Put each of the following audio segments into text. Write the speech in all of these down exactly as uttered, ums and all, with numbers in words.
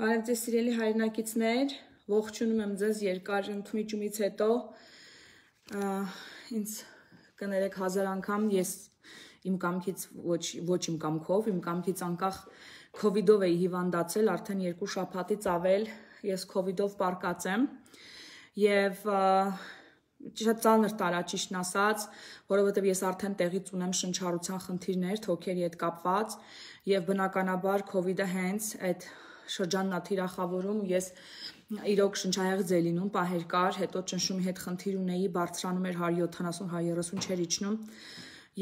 Բարև ձեզ սիրելի հայրենակիցներ, ողջունում եմ ձեզ երկար ընդմիջումից հետո, ինձ կներեք հազար անգամ, ես իմ կամքից, ոչ իմ կամքով, իմ կամքից անկախ քովիդով էի հիվանդացել, արդեն երկու շաբաթից ավել ես քովիդով պարկած եմ և շատ ծանր տարա ճիշտն ասած, որովհետև ես արդեն տեղից ունեմ շնչառության խնդիրներ, թոքերի հետ կապված և բնականաբար քովիդը հենց այդ շրջանն է թիրախավորում, ես իրոք շնչահեղձ էի լինում, պահեր կար, հետո ճնշումի հետ խնդիր ունեի, բարձրանում էր հարյուր յոթանասուն հարյուր երեսուն չէր իջնում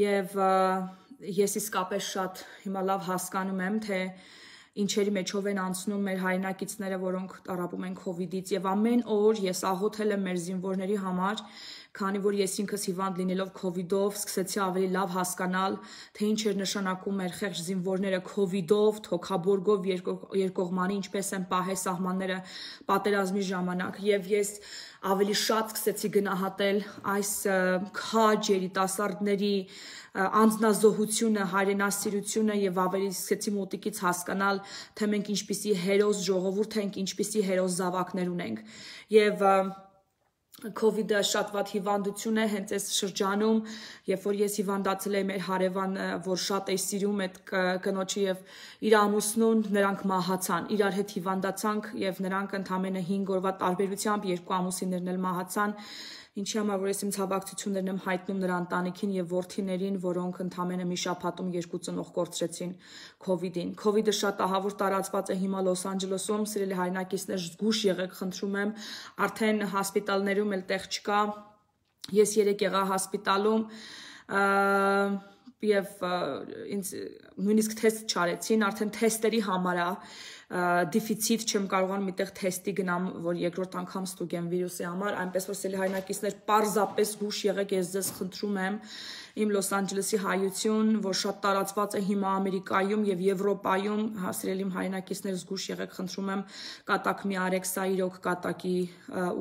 և ես իսկապես շատ հիմա լավ հասկանում եմ, թե ինչերի մեջով են անցնում մեր հայրենակիցները, որոնք տառապում են քովիդից և ամեն օր ես աղոթել եմ մեր զինվորների համար, քանի որ ես ինքս հիվանդ լինելով քովիդով սկսեցի ավելի լավ հասկանալ, թե ինչ էր նշանակում մեր խեղճ զինվորները քովիդով, թոքաբորգով, երկկողմանի ինչպես են պահել սահմանները պատերազմի ժամանակ և ես ավելի շատ սկսեցի գնահատել այս քաջ երիտասարդների անձնազոհությունը, հայրենասիրությունը և ավելի սկսեցի մոտիկից հասկանալ, թե մենք ինչպիսի հերոս ժողովուրդ ենք, ինչպիսի հերոս զավակներ ունենք և քովիդը շատ վատ հիվանդություն է հենց այս շրջանում, երբ որ ես հիվանդացել էի մեր հարևան, որ շատ էի սիրում այդ կնոջը և իր ամուսնուն, նրանք մահացան, իրար հետ հիվանդացանք և նրանք ընդամենը հինգ օրվա տարբերությամբ երկու ամուսիններն էլ մահացան, ինչի համար որ ես իմ ցավակցություններն եմ հայտնում նրա ընտանիքին և որդիներին, որոնք ընդամենը մի շաբաթում երկու ծնող կորցրեցին քովիդին։ Քովիդը շատ ահավոր տարածված է հիմա Լոս Անջելեսում, սիրելի հայրենակիցներ, զգույշ եղեք, խնդրում եմ, արդեն հոսպիտալներում էլ տեղ չկա, ես երեկ եղա հոսպիտալում և ինձ նույնիսկ թեստ չարեցին, արդեն թեստերի համար է, դիֆիցիտ չեմ կարողանում միտեղ թեստի գնամ, որ երկրորդ անգամ ստուգեմ վիրուսի համար, այնպես որ սիրելի հայրենակիցներ, պարզապես զգույշ եղեք, ես ձեզ խնդրում եմ, իմ Լոս Անջելեսի հայություն, որ շատ տարածված է հիմա Ամերիկայում և Եվրոպայում, սիրելի իմ հայրենակիցներ, զգույշ եղեք, խնդրում եմ, կատակ մի արեք, սա իրոք կատակի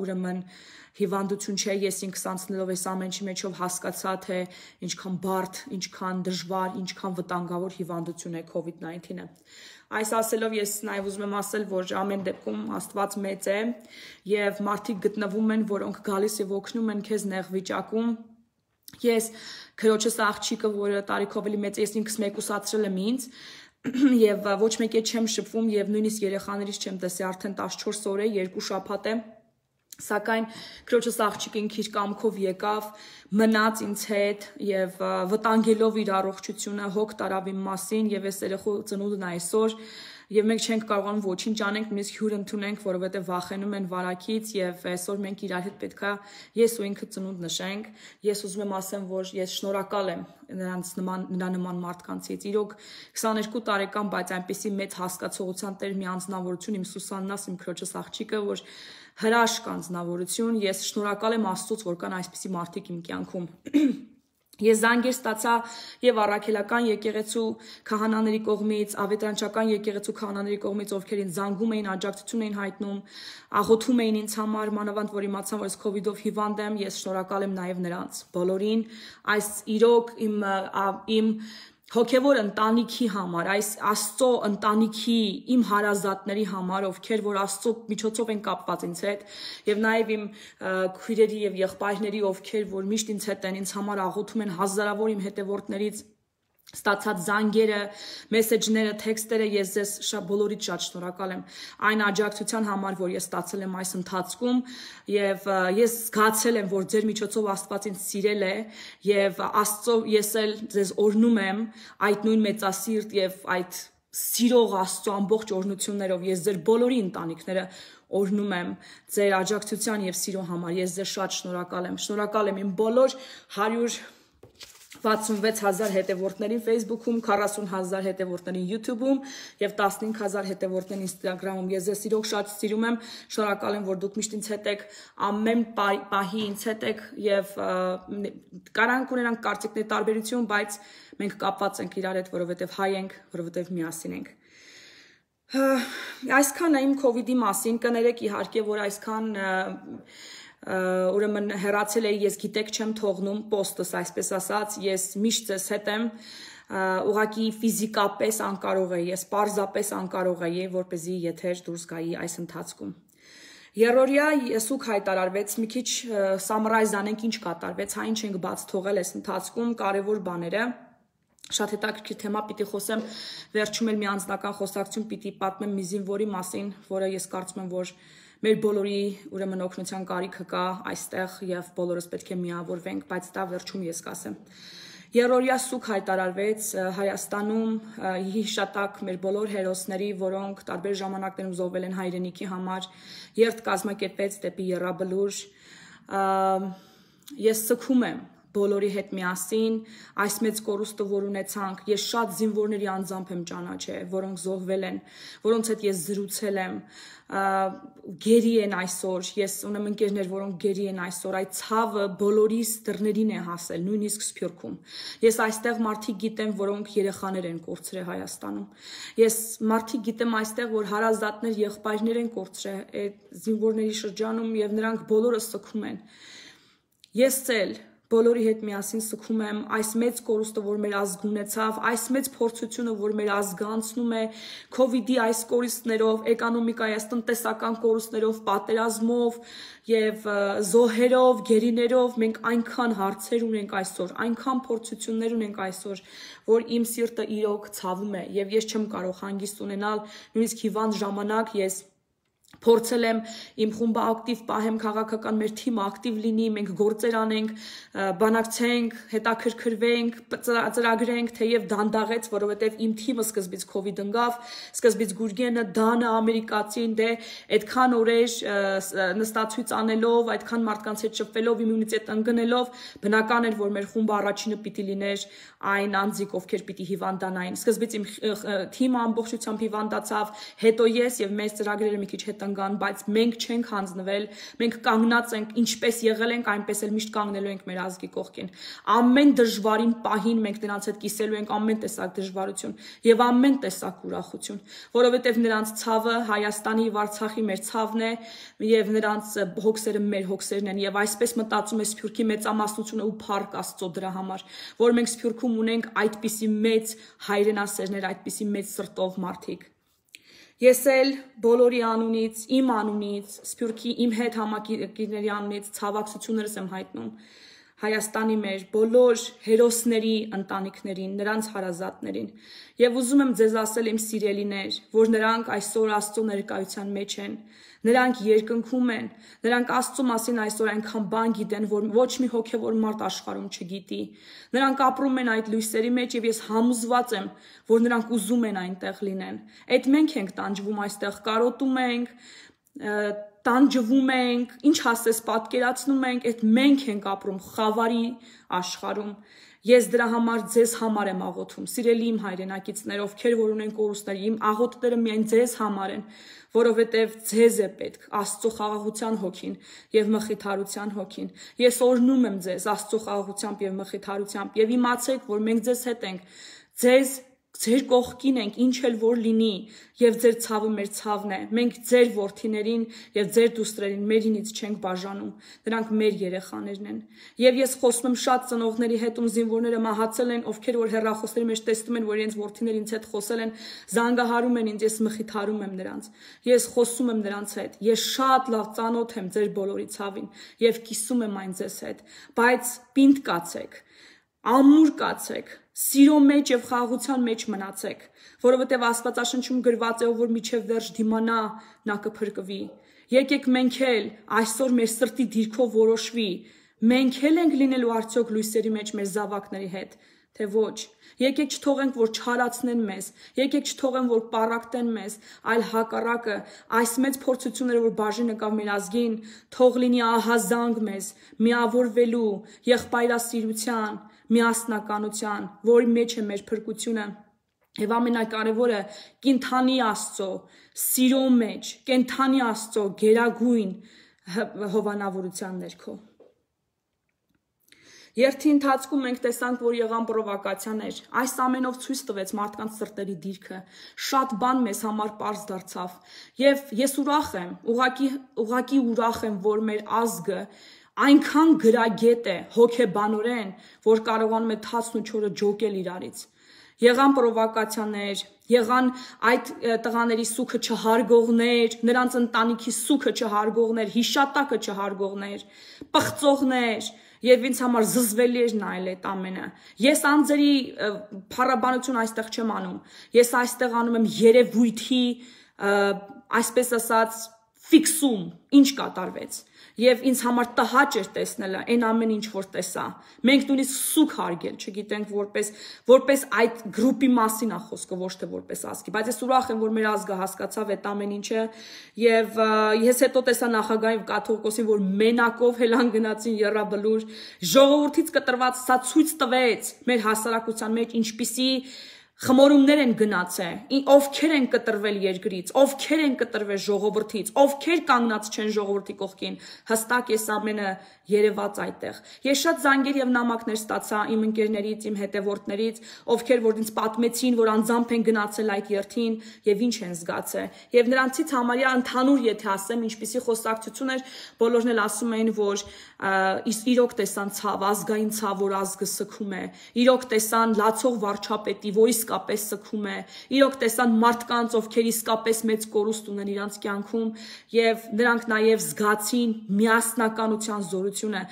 ուրեմն հիվանդություն չէ, ես ինքս անցնելով այս ամենի մեջով հասկացա, թե ինչքան բարդ, ինչքան դժվար, ինչքան վտանգավոր հիվանդություն է քովիդ նայնթինը։ Այս ասելով ես նաև ուզում եմ ասել, որ ամեն դեպքում Աստված մեծ է և մարդիկ գտնվում են, որոնք գալիս և օգնում են քեզ նեղ վիճակում։ Ես քրոջս աղջիկը, որը տարիքով ավելի մեծ է, ես ինքս մեկուսացրել եմ ինձ և ոչ մեկի հետ չեմ շփվում և նույնիսկ երեխաներից չեմ տեսել, արդեն տասնչորս օր է, երկու շաբաթ է, սակայն քրոջս աղջիկը ինքը իր կամքով եկավ, մնաց ինձ հետ և վտանգելով իր առողջությունը հոգ տարավ իմ մասին և այս երեխու ծնունդն է այսօր և մենք չենք կարողանում ոչինչ անենք, նույնիսկ հյուր ընդունենք, որովհետև վախենում են վարակից և այսօր մենք իրար հետ պետք է ես ու ինքը ծնունդ նշենք։ Ես ուզում եմ ասեմ, որ ես շնորհակալ եմ նրանց նման, նրա նման մարդկանցից։ Իրոք քսաներկու տարեկան, բայց այնպիսի մեծ հասկացողության տեր մի անձնավորություն, իմ Սուսաննաս, իմ քրոջս աղջիկը, որ հրաշք անձնավորություն, ես շնորհակալ եմ Աստծուց, որ կան այսպիսի մարդիկ իմ կյանքում։ Ես զանգեր ստացա և առաքելական եկեղեցու քահանաների կողմից, ավետարանչական եկեղեցու քահանաների կողմից, ովքեր ինձ զանգում էին, աջակցություն էին հայտնում, աղոթում էին ինձ համար, մանավանդ որ իմացան, որ ես քովիդով հիվանդ եմ, ես շնորհակալ եմ նաև նրանց բոլորին, այս իրոք իմ իմ հոգևոր ընտանիքի համար, այս Աստծո ընտանիքի, իմ հարազատների համար, ովքեր որ Աստծո միջոցով են կապված ինձ հետ, և նաև իմ քույրերի և եղբայրների, ովքեր որ միշտ ինձ հետ են, ինձ համար աղոթում են, հազարավոր իմ հետևորդներից ստացած զանգերը, մեսեջները, թեքստերը, ես ձեզ շատ բոլորից շատ շնորհակալ եմ այն աջակցության համար, որ ես ստացել եմ այս ընթացքում և ես զգացել եմ, որ ձեր միջոցով Աստված ինձ սիրել է և Աստծո ես էլ ձեզ օրհնում եմ այդ նույն մեծասիրտ և այդ սիրող Աստծո ամբողջ օրհնություններով, ես ձեր բոլորի ընտանիքները օրհնում եմ ձեր աջակցության և սիրո համար, ես ձեզ շատ շնորհակալ եմ, շնորհակալ եմ իմ բոլոր հարյուր վաթսունվեց հազար հետևորդներին Facebook-ում, քառասուն հազար հետևորդներին YouTube-ում և տասնհինգ հազար հետևորդներին Instagram-ում։ Ես ձեզ իրոք շատ սիրում եմ, շնորհակալ եմ, որ դուք միշտ ինձ հետ եք, ամեն պահի ինձ հետ եք և կարանք ունենանք կարծիքների տարբերություն, բայց մենք կապված ենք իրար հետ, որովհետև հայ ենք, որովհետև միասին ենք։ Այսքան է իմ քովիդի մասին, կներեք իհարկե, որ այսքան ուրեմն հեռացել էի, ես գիտեք չեմ թողնում պոստս, այսպես ասած, ես միշտ ձեզ հետ եմ, ուղղակի ֆիզիկապես անկարող էի, ես պարզապես անկարող էի, որպեսզի եթեր դուրս գայի այս ընթացքում։ Երրորդյա սուկ հայտարարվեց, մի քիչ սամրայզ անենք ինչ կատարվեց, հա ինչ ենք բաց թողել այս ընթացքում, կարևոր բաները, շատ հետաքրքիր թեմա պիտի խոսեմ, վերջում էլ մի անձնական խոսակցություն պիտի պատմեմ մի զինվորի մասին, որը ես կարծում եմ, որ մեր բոլորի ուրեմն օգնության կարիքը կա այստեղ եւ բոլորս պետք է միավորվենք, բայց դա վերջում ես կասեմ։ Երրորդյա սուկ հայտարարվեց Հայաստանում հիշատակ մեր բոլոր հերոսների, որոնք տարբեր ժամանակներում զոհվել են հայրենիքի համար, երթ կազմակերպեց դեպի Եռաբլուր։ Ես սգում եմ բոլորի հետ միասին, այս մեծ կորուստը, որ ունեցանք, ես շատ զինվորների անձամբ եմ ճանաչել, որոնք զոհվել են, որոնց հետ ես զրուցել եմ, գերի են այսօր, ես ունեմ ընկերներ, որոնք գերի են այսօր, այդ ցավը բոլորիս դռներին է հասել, նույնիսկ Սփյուռքում։ Ես այստեղ մարդիկ գիտեմ, որոնք երեխաներ են կորցրել Հայաստանում։ Ես մարդիկ գիտեմ այստեղ, որ հարազատներ, եղբայրներ են կորցրել այդ զինվորների շրջանում եւ նրանք բոլորը սգում են։ Ես էլ բոլորի հետ միասին սգում եմ այս մեծ կորուստը, որ մեր ազգ ունեցավ, այս մեծ փորձությունը, որ մեր ազգը անցնում է COVID-ի այս կորուստներով, էկոնոմիկայի այս տնտեսական կորուստներով, պատերազմով եւ զոհերով, գերիներով, մենք այնքան հարցեր ունենք այսօր, այնքան փորձություններ ունենք այսօր, որ իմ սիրտը իրոք ցավում է եւ ես չեմ կարող հանգիստ ունենալ, նույնիսկ հիվանդ ժամանակ ես փորձել եմ իմ խումբը ակտիվ պահեմ, քաղաքական մեր թիմը ակտիվ լինի, մենք գործեր անենք, բանակցենք, հետաքրքրվենք, ծրագրենք, թեև դանդաղեց, որովհետև իմ թիմը սկզբից COVID ընկավ, սկզբից Գուրգենը, Դանը, ամերիկացին, դե այդքան օրեր նստացույց անելով, այդքան մարդկանց հետ շփվելով, իմունիտետ ընկնելով, բնական էր, որ մեր խումբը առաջինը պիտի լիներ այն անձիկ, ովքեր պիտի հիվանդանային։ Սկզբից իմ թիմը ամբողջությամբ հիվանդացավ, հետո ես եւ մեր ծրագրերը մի քիչ հետ ընկան, բայց մենք չենք հանձնվել, մենք կանգնած ենք, ինչպես եղել ենք, այնպես էլ միշտ կանգնելու ենք մեր ազգի կողքին։ Ամեն դժվարին պահին մենք նրանց հետ կիսելու ենք ամեն տեսակ դժվարություն եւ ամեն տեսակ ուրախություն, որովհետեւ նրանց ցավը Հայաստանի եւ Արցախի մեր ցավն է եւ նրանց հոգսերը մեր հոգսերն են եւ այսպես մտածում է Սփյուռքի մեծամասնությունը ու փառք Աստծո դրա համար, որ մենք Սփյուռքում ունենք այդպիսի մեծ հայրենասերներ, այդպիսի մեծ սրտով մարդիկ։ Ես էլ բոլորի անունից, իմ անունից, Սփյուռքի իմ հետ համակիների անունից ցավակցություններս եմ հայտնում Հայաստանի մեր բոլոր հերոսների ընտանիքներին, նրանց հարազատներին եւ ուզում եմ ձեզ ասել իմ սիրելիներ, որ նրանք այսօր Աստծո ներկայության մեջ են, նրանք երկնքում են, նրանք Աստծո մասին այսօր այնքան բան գիտեն, որ ոչ մի հոգեվոր մարդ աշխարհում չգիտի։ Նրանք ապրում են այդ լույսերի մեջ եւ ես համոզված եմ, որ նրանք ուզում են այնտեղ լինեն։ Այդ մենք ենք տանջվում այստեղ, կարոտում ենք, տանջվում ենք, ինչ ասես պատկերացնում ենք, այդ մենք ենք ապրում խավարի աշխարհում։ Ես դրա համար ձեզ համար եմ աղոթում, սիրելի իմ հայրենակիցներ, ովքեր որ ունեն կորուստներ, իմ աղոթները միայն ձեզ համար են, որովհետև ձեզ է պետք Աստծո խաղաղության հոգին եւ մխիթարության հոգին։ Ես օրհնում եմ ձեզ Աստծո խաղաղությամբ եւ մխիթարությամբ եւ իմացեք, որ մենք ձեզ հետ ենք, ձեզ ձեր կողքին ենք, ինչ էլ որ լինի, եւ ձեր ցավը մեր ցավն է։ Մենք ձեր որդիներին եւ ձեր դուստրերին մերինից չենք բաժանում։ Նրանք մեր երեխաներն են։ Եվ ես խոսում եմ շատ ծնողների հետ, ում զինվորները մահացել են, ովքեր որ հեռախոսների մեջ տեսնում են, որ իրենց որդիները ինձ հետ խոսել են, զանգահարում են ինձ, ես մխիթարում եմ նրանց։ Ես խոսում եմ նրանց հետ։ Ես շատ լավ ծանոթ եմ ձեր բոլորի ցավին եւ կիսում եմ այն ձեզ հետ, բայց պինդ կացեք, ամուր կացեք, սիրո մեջ եւ խաղաղության մեջ մնացեք, որովհետեւ Աստվածաշնչում գրված է, ով որ միջև վերջ դիմանա, նա կփրկվի։ Եկեք մենք էլ այսօր մեր սրտի դիրքով որոշվի, մենք էլ ենք լինելու արդյոք լույսերի մեջ մեր զավակների հետ, թե ոչ։ Եկեք չթողենք, որ չարացնեն մեզ, եկեք չթողեն, որ պառակտեն մեզ, այլ հակառակը, այս մեծ փորձությունները, որ բաժին եկավ մեր ազգին, թող լինի ահազանգ մեզ, միավորվելու, եղբայրասիրության, միասնականության, որի մեջ է մեր փրկությունը, եւ ամենակարևորը կենթանի Աստծո սիրո մեջ, կենթանի Աստծո գերագույն հովանավորության ներքո։ Երթի ընթացքում մենք տեսանք, որ եղան պրովոկացիաներ, այս ամենով ցույց տվեց մարդկանց սրտերի դիրքը, շատ բան մեզ համար պարզ դարձավ, եւ ես ուրախ եմ, ուղղակի ուղղակի ուրախ եմ, որ մեր ազգը այնքան գրագետ է հոգեբանորեն, որ կարողանում է թացն ու չորը ջոկել իրարից։ Եղան պրովոկացիաներ, եղան այդ տղաների սուքը չհարգողներ, նրանց ընտանիքի սուքը չհարգողներ, հիշատակը չհարգողներ, պղծողներ, եւ ինձ համար զզվելի էր նայել այդ ամենը։ Ես անձերի փառաբանություն այստեղ չեմ անում։ Ես այստեղ անում եմ երևույթի, այսպես ասած, ֆիքսում, ինչ կատարվեց։ Եվ ինձ համար տհաճ էր տեսնելը այն ամեն ինչ որ տեսա։ Մենք նույնիսկ սուք հարգել, չգիտենք որպես որպես այդ գրուպի մասին է խոսքը, ոչ թե որպես ազգի, բայց ես ուրախ եմ, որ մեր ազգը հասկացավ այդ ամեն ինչը եւ ես հետո տեսա նախագահի կաթողիկոսին, որ մենակով հելան գնացին եռաբլուր, ժողովրդից կտրված սա ցույց տվեց մեր հասարակության մեջ ինչպիսի խմորումներ են գնացել, ովքեր են կտրվել երկրից, ովքեր են կտրվել ժողովրդից, ովքեր կանգնած չեն ժողովրդի կողքին, հստակ ես ամենը երևաց այդտեղ։ Ես շատ զանգեր եւ նամակներ ստացա իմ ընկերներից, իմ հետևորդներից, ովքեր որ ինձ պատմեցին, որ անձամբ են գնացել այդ երթին եւ ինչ են զգացել։ Եվ նրանցից համարյա ընդհանուր եթե ասեմ, ինչպիսի խոսակցություն էր, բոլորն էլ ասում էին, որ իրոք տեսան ցավ, ազգային ցավ, որ ազգը սգում է, իրոք տեսան լացող վարչապետի, որ իսկապես սգում է, իրոք տեսան մարդկանց, ովքեր իսկապես մեծ կորուստ ունեն իրանց կյանքում եւ նրանք նաեւ զգացին միասնականության զորությունը,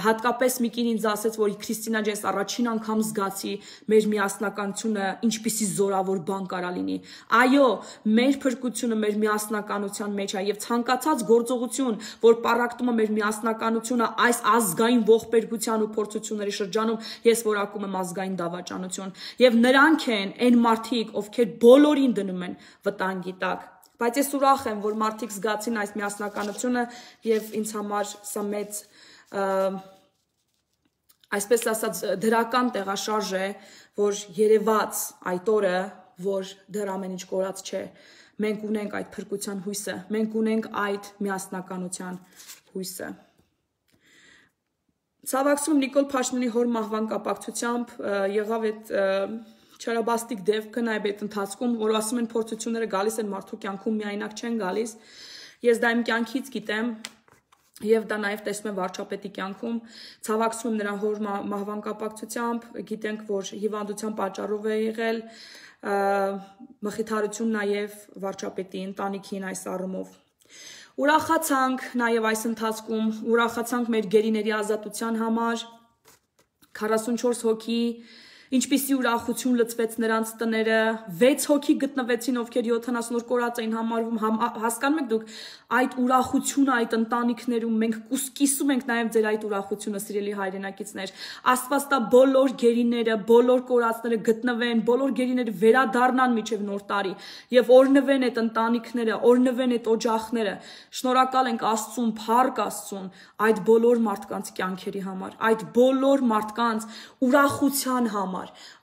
հատկապես մի կին ինձ ասեց, որ Քրիստինա ջես առաջին անգամ զգացի մեր միասնականությունը ինչպիսի զորավոր բան կարա լինի։ Այո, մեր փրկությունը մեր միասնականության մեջ է եւ ցանկացած գործողություն, որ պարակտում է մեր միասնականությունը այս ազգային ողբերգության ու փորձությունների շրջանում, ես որակում եմ ազգային դավաճանություն եւ նրանք են այն մարդիկ, ովքեր բոլորին դնում են վտանգի տակ։ Բայց ես ուրախ եմ, որ մարդիկ զգացին այս միասնականությունը եւ ինձ համար սա մեծ այսպես ասած դրական տեղաշարժ է, որ երևաց այդ օրը, որ դեռ ամեն ինչ կորած չէ։ Մենք ունենք այդ փրկության հույսը, մենք ունենք այդ միասնականության հույսը։ Ցավակցում Նիկոլ Փաշինյանի հոր մահվան կապակցությամբ եղավ այդ չարաբաստիկ դեպքը նաև այդ ընթացքում, որ ասում են փորձությունները գալիս են մարդու կյանքում միայնակ չեն գալիս։ Ես դա իմ կյանքից գիտեմ եւ դա նաև տեսնում եմ վարչապետի կյանքում, ցավակցում եմ նրա հոր մահվան կապակցությամբ, գիտենք, որ հիվանդության պատճառով է եղել, մխիթարություն նաև վարչապետի ընտանիքին այս առումով։ Ուրախացանք նաև այս ընթացքում, ուրախացանք մեր գերիների ազատության համար, քառասունչորս հոգի, ինչպիսի ուրախություն լցվեց նրանց տները, վեց հոգի գտնվեցին, ովքեր յոթանասուն օր կորած էին համարվում, հասկանում եք դուք այդ ուրախությունը այդ ընտանիքներում, մենք կիսում ենք նաև ձեր այդ ուրախությունը, սիրելի հայրենակիցներ, Աստված տա բոլոր գերիները, բոլոր կորածները գտնվեն, բոլոր գերիները վերադառնան մինչև նոր տարի եւ օրնվեն այդ ընտանիքները, օրնվեն այդ օջախները, շնորհակալ ենք Աստծուն, փառք Աստծուն այդ բոլոր մարդկանց կյանքերի համար, այդ բոլոր մարդկանց ուրախության համար,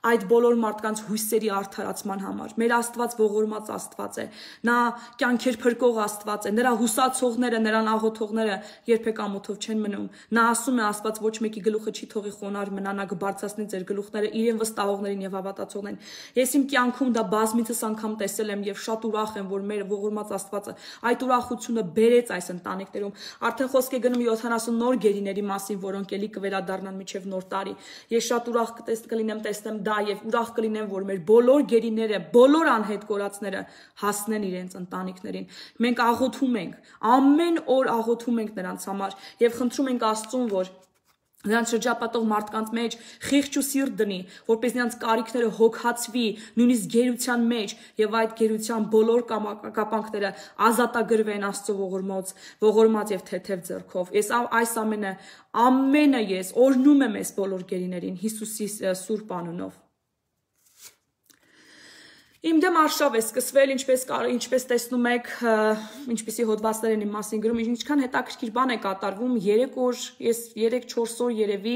այդ բոլոր մարդկանց հույսերի արդարացման համար։ Մեր Աստված ողորմած Աստված է, նա կյանքեր փրկող Աստված է, նրա հուսացողները, նրան աղոթողները երբեք ամոթով չեն մնում։ Նա ասում է Աստված ոչ մեկի գլուխը չի թողի խոնարհ մնա, նա կբարձրացնի ձեր գլուխները իրեն վստահողներին եւ հավատացողներին։ Ես իմ կյանքում դա բազմիցս անգամ տեսել եմ եւ շատ ուրախ եմ, որ մեր ողորմած Աստվածը այդ ուրախությունը բերեց այս ընտանիքներում։ Արդեն խոսք է գնում յոթանասուն նոր գերիների մասին, որոնք էլի կվերադառնան մինչև նոր տարի։ Ես շատ ուրախ կլինեմ տեսնեմ դա եւ ուրախ կլինեմ, որ մեր բոլոր գերիները, բոլոր անհետ կորածները հասնեն իրենց ընտանիքներին։ Մենք աղոթում ենք, ամեն օր աղոթում ենք նրանց համար եւ խնդրում ենք Աստծուն, որ նրանց շրջապատող մարդկանց մեջ խիղճ ու սիրտ դնի, որպես նրանց կարիքները հոգացվի, նույնիսկ գերության մեջ եւ այդ գերության բոլոր կապանքները ազատագրվեն Աստծո ողորմած, ողորմած եւ թեթև ձեռքով։ Ես այս ամենը, ամենը ես օրհնում եմ այս բոլոր գերիներին Հիսուսի սուրբ անունով։ Իմ դեմ արշավ է սկսվել, ինչպես ինչպես տեսնում եք, ինչպեսի հոդվածներ են իմ մասին գրում, ինչքան հետաքրքիր բան է կատարվում, երեք օր, ես երեք չորս օր երևի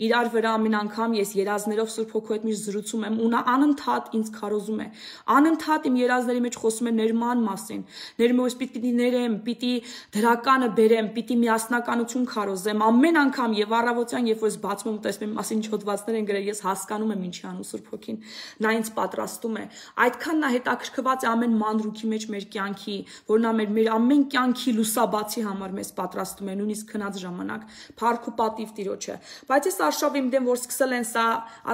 իրար վրա ամեն անգամ ես երազներով Սուրբ Հոգու հետ միշտ զրուցում եմ ու նա անընդհատ ինձ քարոզում է։ Անընդհատ իմ երազների մեջ խոսում է ներման մասին, ներմոս պիտի ներեմ, պիտի դրականը բերեմ, պիտի միասնականություն քարոզեմ, ամեն անգամ եւ առավոտյան, երբ որ ես բացում եմ տեսնում եմ մասին ինչ հոդվածներ են գրել, ես հասկանում եմ ինչի անում Սուրբ Հոգին, նա ինձ պատրաստում է։ Այդքան նա հետաքրքրված է ամեն մանրուքի մեջ մեր կյանքի, որ նա մեր մեր ամեն կյանքի լուսաբացի համար մեզ պատրաստում է, նույնիսկ քնած ժամանակ, փառք ու պատիվ Տիրոջը։ Բայց այս արշավ իմ դեմ, որ սկսել են սա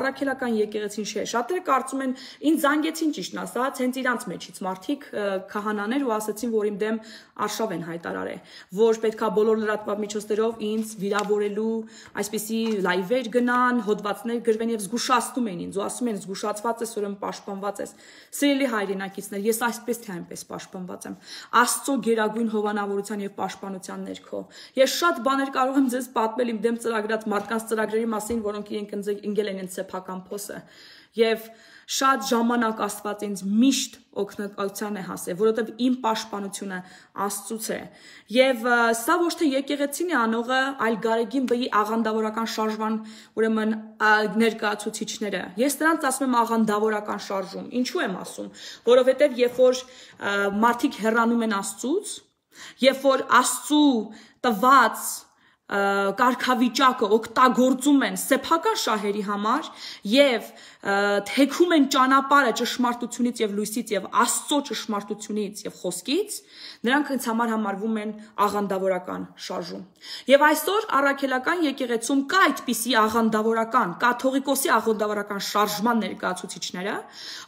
առաքելական եկեղեցին չէ։ Շատերը կարծում են, ինձ զանգեցին ճիշտն ասած, հենց իրանց մեջից մարդիկ քահանաներ ու ասացին, որ իմ դեմ արշավ են հայտարարել, որ պետքա բոլոր լրատվական միջոցներով ինձ վիրավորելու, այսպիսի լայվեր գնան, հոդվածներ գրվեն եւ զգուշացնում են ինձ ու ասում են զգուշացված ես, ուրեմն պաշտպանված ես։ Սիրելի հայրենակիցներ, ես այսպես թե այնպես պաշտպանված եմ Աստծո գերագույն հովանավորության եւ պաշտպանության ներքո։ Ես շատ բաներ կարող եմ ձեզ պատմել իմ դեմ ծրագրած մարդկանց ծրագրերի մասին, որոնք իրենք ընկել են ինձ սեփական փոսը։ Եվ շատ ժամանակ Աստված ինձ միշտ օգնության է հասել, որովհետև իմ պաշտպանությունը Աստծուց է։ Եվ սա ոչ թե եկեղեցին է անողը, այլ Գարեգին Բ-ի աղանդավորական շարժման, ուրեմն ներկայացուցիչները։ Ես նրանց ասում եմ աղանդավորական շարժում։ Ինչու եմ ասում, որովհետև երբ որ մարդիկ հեռանում են Աստծուց, երբ որ Աստծու տված կարգավիճակը օգտագործում են սեփական շահերի համար եւ թեքում են ճանապարհը ճշմարտությունից եւ լույսից եւ Աստծո ճշմարտությունից եւ խոսքից, նրանք ինձ համար համարվում են աղանդավորական շարժում։ Եվ այսօր առաքելական եկեղեցում կա այդպիսի աղանդավորական, կաթողիկոսի աղանդավորական շարժման ներկայացուցիչները,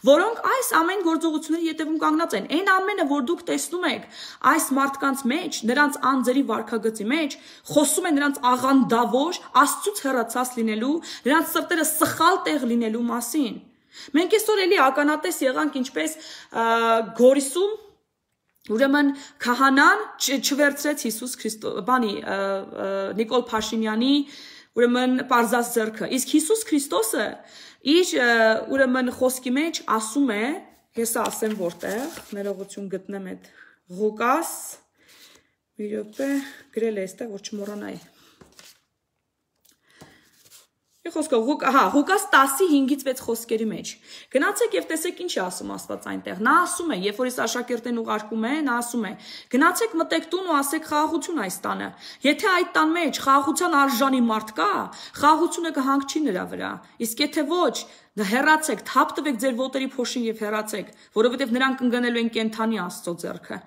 որոնք այս ամեն գործողությունների ետևում կանգնած են։ Այն ամենը, որ դուք տեսնում եք այս մարդկանց մեջ, նրանց անձերի վարքագծի մեջ, խոսում են նրանց աղանդավոր, Աստծուց հեռացած լինելու, նրանց սրտերը սխալ տեղ լինելու մասին։ Մենք այսօր էլի ականատես եղանք ինչպես Գորիսում, ուրեմն քահանան չվերցրեց Հիսուս Քրիստո, բանի Նիկոլ Փաշինյանի ուրեմն պարզած ձեռքը։ Իսկ Հիսուս Քրիստոսը իր ուրեմն խոսքի մեջ ասում է, ես ասեմ որտեղ, ներողություն գտնեմ այդ Ղուկաս, մի րոպե, գրել է այստեղ, որ չմոռանայի։ Խոսքով, հա, Ղուկաս տասի հինգից վեց խոսքերի մեջ։ Գնացեք եւ տեսեք ինչ է ասում Աստված այնտեղ։ Նա ասում է, երբ որ ես աշակերտին ուղարկում է, նա ասում է. գնացեք մտեք տուն ու ասեք խաղաղություն այս տանը։ Եթե այդ տան մեջ խաղաղության արժանի մարդ կա, խաղաղությունը կհանգչի նրա վրա։ Իսկ եթե ոչ, հեռացեք, թափ տվեք ձեր ոտերի փոշին եւ հեռացեք, որովհետեւ նրանք ընկնելու են կենթանի Աստծո ձեռքը։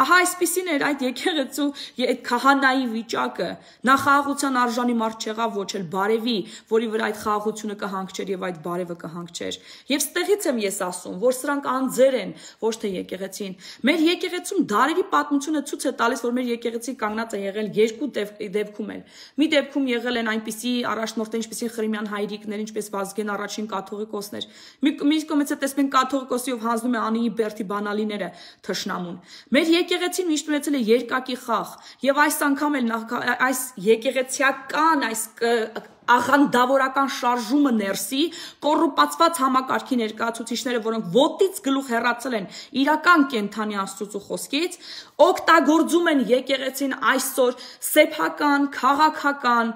Ահա այսպիսին էր այդ եկեղեցու այդ քահանայի վիճակը։ Նա խաղաղության արժանի մարդ չեղավ, ոչ էլ բարևի, որի վրա այդ խաղաղությունը կհանգչեր եւ այդ բարևը կհանգչեր։ Եվ ստեղից եմ ես ասում, որ սրանք անձեր են, ոչ թե եկեղեցին։ Մեր եկեղեցում դարերի պատմությունը ցույց է տալիս, որ մեր եկեղեցին կանգնած է եղել երկու դեպքում էլ։ Մի դեպքում եղել են այնպիսի առաջնորդներ, ինչպեսին Խրիմյան հայրիկներ, ինչպես Վազգեն առաջին կաթողիկոսներ։ Մի կողմից է տեսնում են կաթողիկոսիով հանձնում է Անիի Բերթի բանալիները թշնամուն։ Մեր եկեղեցին միշտ ունեցել է երկակի խաղ եւ այս անգամ էլ այս եկեղեցիական այս աղանդավորական շարժումը ներսի կոռուպացված համակարգի ներկայացուցիչները, որոնք ոտից գլուխ հեռացել են իրական կենթանի Աստծո խոսքից, օգտագործում են եկեղեցին այսօր սեփական, քաղաքական,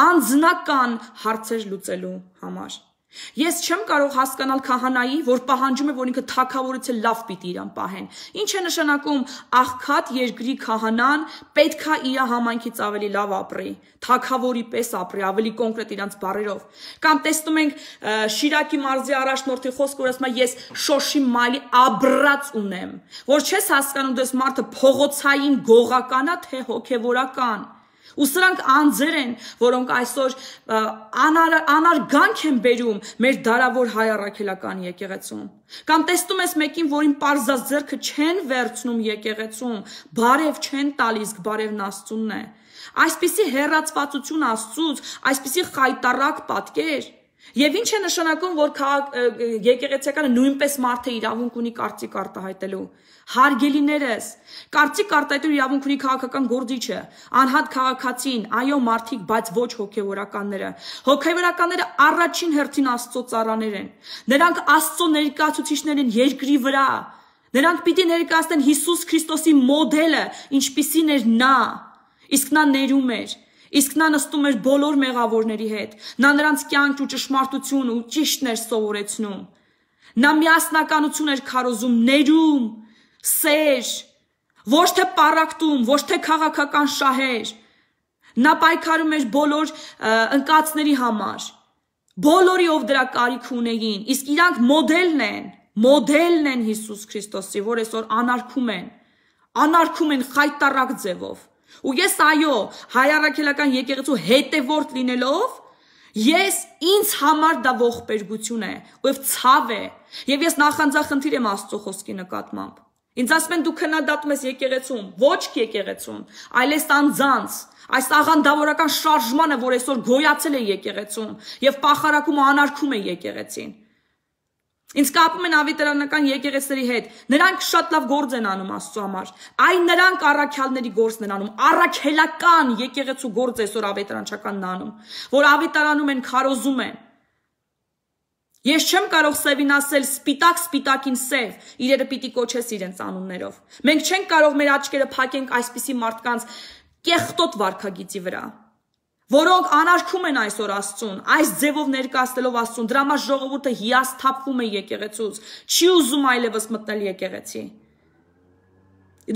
անձնական հարցեր լուծելու համար։ Ես չեմ կարող հասկանալ քահանայի, որ պահանջում է, որ ինքը թագավորից էլ լավ պիտի իրան պահեն։ Ինչ է նշանակում աղքատ երկրի քահանան պետքա իր համայնքից ավելի լավ ապրի, թագավորի պես ապրի, ավելի կոնկրետ իրանց բառերով։ Կամ տեսնում ենք Շիրակի մարզի առաջնորդի խոսքը, որ ասում է ես շոշի մայլի աբրած ունեմ, որ չես հասկանում դες մարդը փողոցային գողականա թե հոգևորական։ Ու սրանք անձեր են, որոնք այսօր անար, անարգանք են բերում մեր դարավոր հայ առաքելական եկեղեցում։ Կամ տեսնում ես մեկին, որին պարզած ձեռքը չեն վերցնում եկեղեցում, բարև չեն տալիս, բարևն Աստծունն է։ Այսպիսի հեռացվածություն Աստծուց, այսպիսի խայտառակ պատկեր, Եվ ինչ է նշանակում, որ եկեղեցիականը նույնպես մարդը իրավունք ունի կարծիք արտահայտելու։ Հարգելիներս, կարծիք արտահայտելու իրավունք ունի քաղաքական գործիչը, անհատ քաղաքացին, այո մարդիկ, բայց ոչ հոգևորականները։ Հոգևորականները առաջին հերթին Աստծո ծառաներ են։ Նրանք Աստծո ներկայացուցիչներ են երկրի վրա։ Նրանք պիտի ներկայացնեն Հիսուս Քրիստոսի մոդելը, ինչպիսին էր նա, իսկ նա ներում էր։ Իսկ նա նստում էր բոլոր մեղավորների հետ, նա նրանց կյանք ու ճշմարտություն ու ճիշտն էր սովորեցնում, նա միասնականություն էր քարոզում, ներում, սեր, ոչ թե պառակտում, ոչ թե քաղաքական շահեր, նա պայքարում էր բոլոր ընկածների համար, բոլորի ով դրա կարիք ունեին, իսկ իրանք մոդելն են, մոդելն են Հիսուս Քրիստոսի, որ այսօր անարգում են, անարգում են խայտառակ ձևով։ Ու ես այո, հայ առաքելական եկեղեցու հետևորդ լինելով, ես ինձ համար դա ողբերգություն է, ու ցավ է, եւ ես նախանձախնդիր եմ Աստծո խոսքի նկատմամբ։ Ինձ ասում են դու քննադատում ես եկեղեցում, ոչ եկեղեցուն, այլ այս անձանց, այս աղանդավորական շարժմանը, որ այսօր գոյացել է եկեղեցում եւ պախարակում ու անարգում է եկեղեցին։ Ինձ կապում են ավետարանական եկեղեցիների հետ, նրանք շատ լավ գործ են անում Աստծո համար, այն նրանք առաքյալների գործն են անում, առաքելական եկեղեցու գործ այսօր ավետարանչականն անում, որ ավետարանում են, քարոզում են։ Ես չեմ կարող սևին ասել սպիտակ սպիտակին սև, իրերը պիտի կոչես իրենց անուններով։ Մենք չենք կարող մեր աչքերը փակենք այսպիսի մարդկանց կեղտոտ վարքագիծի վրա, որոնք անարգում են այսօր Աստծուն, այս ձևով ներկայացնելով Աստծուն, դրա համար ժողովուրդը հիասթափվում է եկեղեցուց, չի ուզում այլևս մտնել եկեղեցի։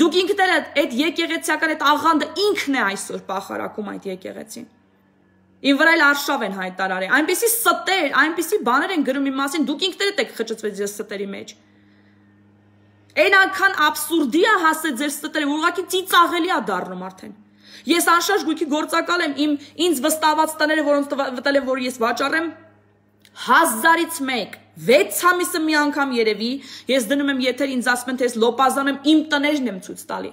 Դուք ինքներդ այդ եկեղեցիական այդ աղանդը ինքն է այսօր պախարակում այդ եկեղեցին։ Ին վրա էլ արշավ են հայտարարել, այնպիսի ստեր, այնպիսի բաներ են գրում իմ մասին, դուք ինքներդ եք խճճվել ձեր ստերի մեջ։ Այն անգան աբսուրդի է հասել ձեր ստերը, որ ուղղակի ծիծաղելի է դառնում արդեն։ Ես անշարժ գույքի գործակալ եմ, իմ ինձ վստահված տները, որոնց վտել եմ, որ ես վաճառեմ, հազարից մեկ, վեց ամիսը մի անգամ երևի, ես դնում եմ եթեր, ինձ ասում են, թե ես լոպազան եմ, իմ տներն եմ ցույց տալի։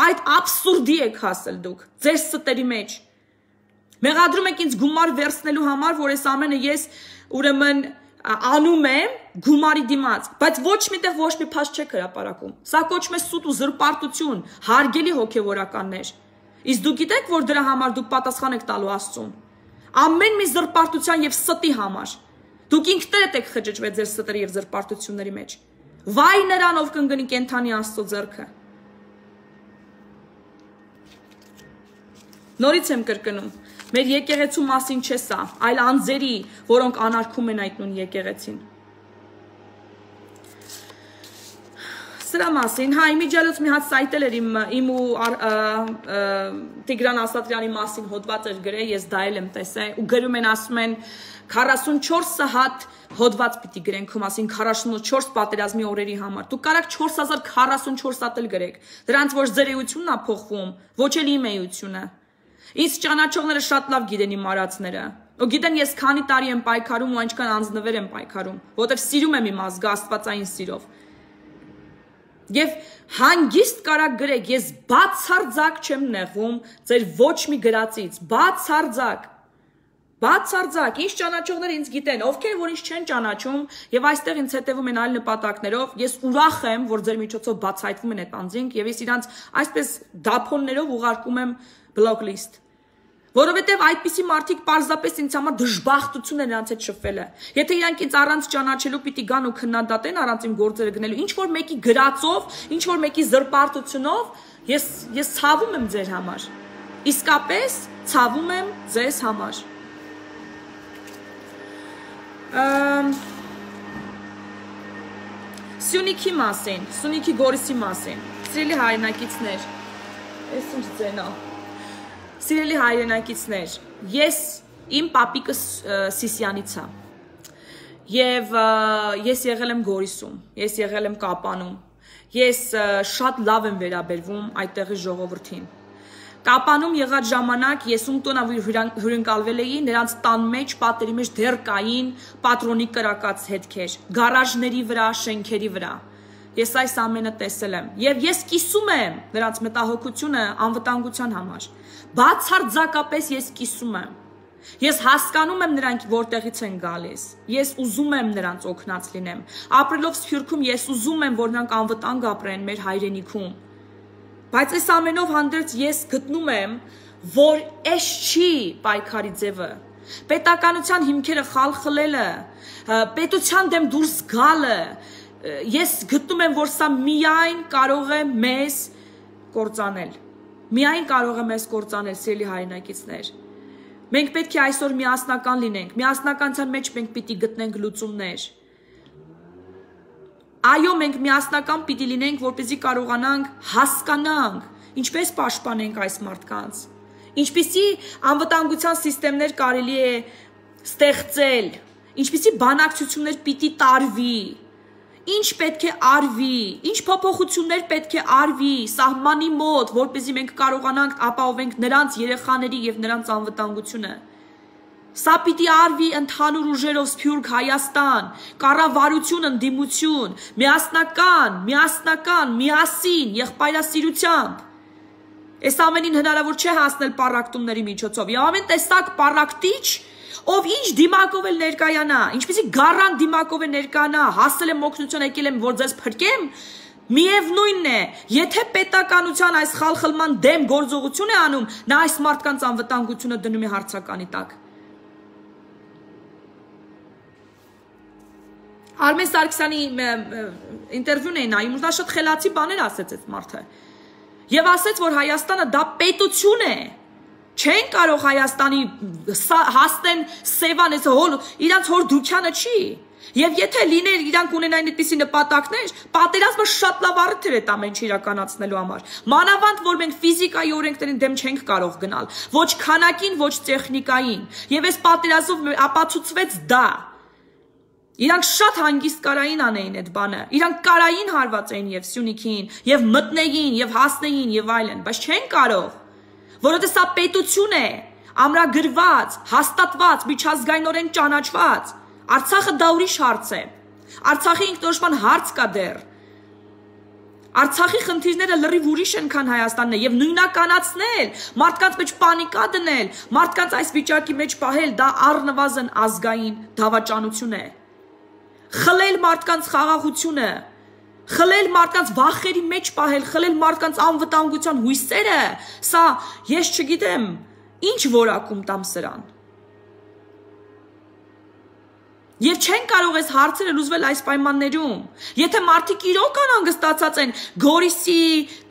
Այդ աբսուրդի եք հասել դուք, ձեր ստերի մեջ։ Մեղադրում եք ինձ գումար վերցնելու համար, որ այս ամենը ես ուրեմն անում եմ գումարի դիմաց, բայց ոչ միտեղ ոչ մի փաստ չեք հրապարակում։ Սա կոչվում է սուտ ու զրպարտություն, հարգելի հոգևորականներ։ Իսկ դուք գիտեք, որ դրա համար դուք պատասխան եք տալու Աստծուն։ Ամեն մի զրպարտության եւ ստի համար։ Դուք ինքներդ եք խճճվել ձեր ստերի եւ զրպարտությունների մեջ։ Վայ նրան, ով կընկնի կենթանի Աստծո ձեռքը։ Նորից եմ կրկնում, մեր եկեղեցու մասին չէ սա, այլ անձերի, որոնք անարգում են այդ նույն եկեղեցին։ Սրա մասին, հա, իմիջիալոց մի հատ սայտել էր իմ, իմ ու Տիգրան Ասատրյանի մասին հոդված էր գրել, ես դա էլ եմ տեսել, ու գրում են, ասում են, քառասունչորս հատ հոդված պիտի գրեն քո մասին քառասունչորս պատերազմի օրերի համար։ Դուք կարաք չորս հազար քառասունչորս հատ էլ գրեք։ Դրանց ոչ ձեր էությունն է փոխվում, ոչ էլ իմ էությունը։ Ինձ ճանաչողները շատ լավ գիտեն իմ արածները։ Ու գիտեն ես քանի տարի եմ պայքարում ու այնքան անձնվեր եմ պայքարում, որովհետև սիրում եմ իմ ազգը աստվածային սիրով։ Եվ հանգիստ կարակ գրեք, ես բացարձակ չեմ նեղվում ձեր ոչ մի գրածից, բացարձակ։ Բացարձակ, ինչ ճանաչողներ ինձ գիտեն, ովքեր որ ինձ չեն ճանաչում եւ այստեղ ինձ հետևում են այլ նպատակներով, ես ուրախ եմ, որ ձեր միջոցով բացահայտվում են այդ անձինք եւ ես իրանց այսպես դափոններով ուղարկում եմ block list։ Որովհետև այդպիսի մարդիկ պարզապես ինձ համար դժբախտություն են նրանց հետ շփվելը։ Եթե իրանք ինձ առանց ճանաչելու պիտի գան ու քննադատեն առանց իմ գործերը գնելու, ինչ որ մեկի գրածով, ինչ որ մեկի զրպարտությունով, ես ես ցավում եմ ձեր համար։ Իսկապես ցավում եմ ձեզ համար։ Սյունիքի մասին, Սյունիքի Գորիսի մասին, սիրելի հայրենակիցներ, ես ինչ ձենա, սիրելի հայրենակիցներ, ես իմ պապիկը Սիսյանից է, և ես եղել եմ Գորիսում, ես եղել եմ Կապանում, ես շատ լավ եմ վերաբերվում այդտեղի ժողովրդին։ Կապանում եղած ժամանակ ես ում տոնավ հյուրընկալվել էի, նրանց տան մեջ, պատերի մեջ դեռ կային պատրոնի կրակած հետքեր, գարաժների վրա, շենքերի վրա։ Ես այս ամենը տեսել եմ, եւ ես կիսում եմ նրանց մտահոգությունը անվտանգության համար։ Բացարձակապես ես կիսում եմ։ Ես հասկանում եմ նրանք որտեղից են գալիս։ Ես ուզում եմ նրանց օգնած լինեմ։ Ապրելով Սփյուռքում ես ուզում եմ, որ նրանք անվտանգ ապրեն մեր հայրենիքում։ Բայց այս ամենով հանդերձ ես գտնում եմ, որ այս չի պայքարի ձևը։ Պետականության հիմքերը խալխլելը, պետության դեմ դուրս գալը, ես գտնում եմ, որ սա միայն կարող է մեզ կործանել։ Միայն կարող է մեզ կործանել, սիրելի հայրենակիցներ։ Մենք պետք է այսօր միասնական լինենք, միասնականության մեջ մենք պիտի գտնենք լուծումներ։ Այո, մենք միասնական պիտի լինենք, որպեսզի կարողանանք հասկանանք, ինչպես պաշտպանենք այս մարդկանց, ինչպիսի անվտանգության սիստեմներ կարելի է ստեղծել, ինչպիսի բանակցություններ պիտի տարվի, ինչ պետք է արվի, ինչ փոփոխություններ պետք է արվի սահմանի մոտ, որպեսզի մենք կարողանանք ապահովենք նրանց երեխաների եւ նրանց անվտանգությունը։ Սա պիտի արվի ընդհանուր ուժերով Սփյուռք Հայաստան, կառավարություն, ընդդիմություն, միասնական, միասնական, միասին, եղբայրասիրությամբ։ Այս ամենին հնարավոր չէ հասնել պառակտումների միջոցով։ Եվ ամեն տեսակ պառակտիչ, ով ինչ դիմակով էլ ներկայանա, ինչպեսի գառան դիմակով է ներկայանա, հասել եմ օգնություն, եկել եմ, որ ձեզ փրկեմ, միևնույնն է, եթե պետականության այս խալխլման դեմ գործողություն է անում, նա այս մարդկանց անվտանգությունը դնում է հարցականի տակ։ Արմեն Սարգսյանի ինտերվյուն էին նայում, նա շատ խելացի բաներ ասեց այդ մարդը։ Եվ ասեց, որ Հայաստանը դա պետություն է։ Չեն կարող Հայաստանի հասնեն Սևան, իրանց հոր դուքյանը չի։ Եվ եթե լիներ իրանք ունենային այդպիսի նպատակներ, պատերազմը շատ լավ առիթ էր այդ ամեն ինչը իրականացնելու համար։ Մանավանդ, որ մենք ֆիզիկայի օրենքներին դեմ չենք կարող գնալ, ոչ քանակին, ոչ տեխնիկային։ Եվ այս պատերազմով ապացուցվեց դա։ Իրանք շատ հանգիստ կարային անեին այդ բանը, իրանք կարային հարված էին եւ Սյունիքին, եւ մտնեին, եւ հասնեին, եւ այլն, բայց չեն կարող, որովհետեւ սա պետություն է, ամրագրված, հաստատված, միջազգայինորեն ճանաչված։ Արցախը դա ուրիշ հարց է։ Արցախի ինքնորոշման հարց կա դեռ։ Արցախի խնդիրները լրիվ ուրիշ են, քան Հայաստանն է, եւ նույնականացնել, մարդկանց մեջ պանիկա դնել, մարդկանց այս վիճակի մեջ պահել, դա առնվազն ազգային դավաճանություն է։ Խլել մարդկանց խաղաղությունը, խլել մարդկանց վախերի մեջ պահել, խլել մարդկանց անվտանգության հույսերը, սա ես չգիտեմ, ինչ որակում տամ սրան։ Եվ չեն կարող այս հարցերը լուծվել այս պայմաններում։ Եթե մարդիկ իրոք անհանգստացած են Գորիսի,